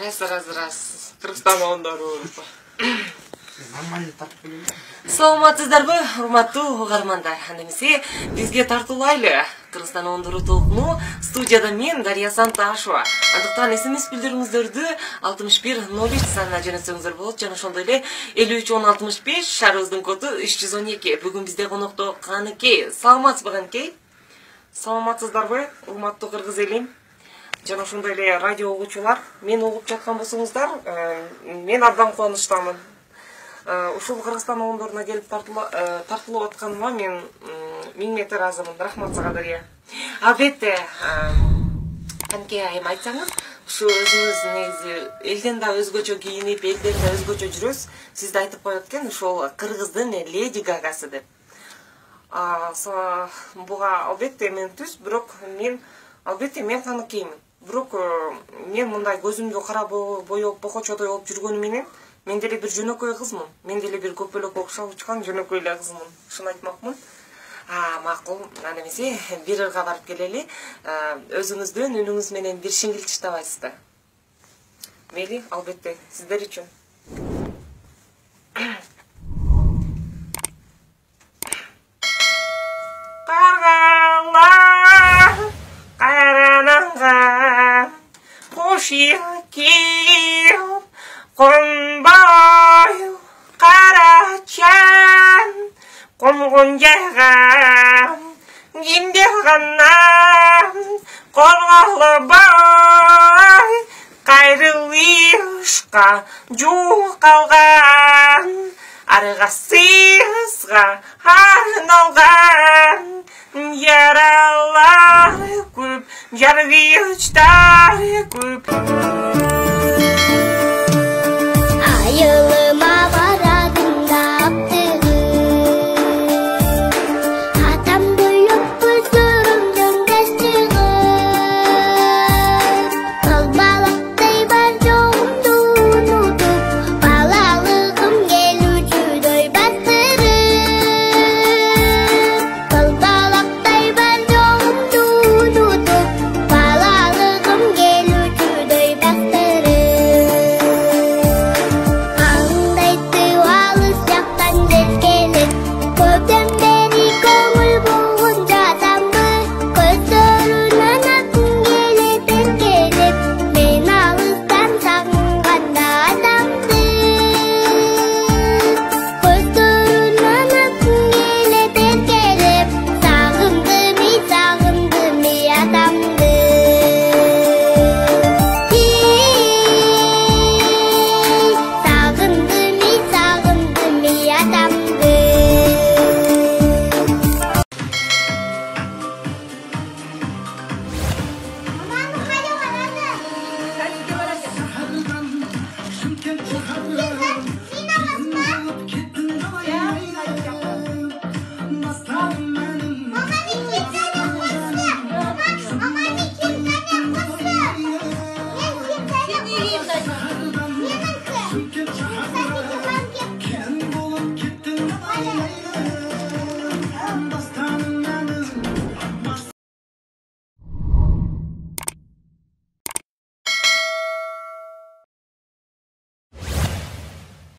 Раз. Кыргызстан оңдору. Нормально тартып келем. Саламатсыздарбы, урматтуу угармандар? Анда эмесе бизге тартуулайлы. Кыргызстан оңдору толкуну студияда мен Дарья Санташева. Андыктан SMS билдирүүңүздөрдү 6103 санына жөнөтсөңүздөр болот. Жана ошондой эле 531065 шаарыбыздын коду 312. Бүгүн бизде конокто Каныкей. Саламатсызбы Каныкей? Саламатсыздарбы, урматтуу кыргыз элим? Жана ошондой эле радио угуучулар, мени угуп жаткан болсоңуздар, мен абдан кубанычтамын. Ушул Кыргызстан оңдоруна келип тартылып атканыма мен 1000 метр ыраазымын. Рахмат сага, Дарья. Албетте, Каныкей айым айтсаңыз, ушу өзүңүз негизи элден да өзгөчө кийинип, элден да өзгөчө жүрөсүз. Сизди айтып коет экен, ушул Кыргыздын Леди Гагасы деп. Буга албетте мен түз, бирок мен Каныкеймин. Бирок мен мындай көзүмдү кара боёп, бокочодой болуп жүргөнү менен мен деле бир жөнөкөй кызмын. Мен деле бир көпөлөккө окшоп учкан жөнөкөй эле кызмын. Ушуну айтмакмын. Макул. Анда эмесе бир ырга барып келели. Өзүңүздүн үнүңүз менен бир шиңгил чыштабайсыз да. Мейли, албетте, сиздер үчүн. Каргалар карананга кош кийип конбой карачан конгон жайга кимде гана корголбой кайрылышка жол калган аргасызга арналган яралар көп, жаргычтар көп. Айылы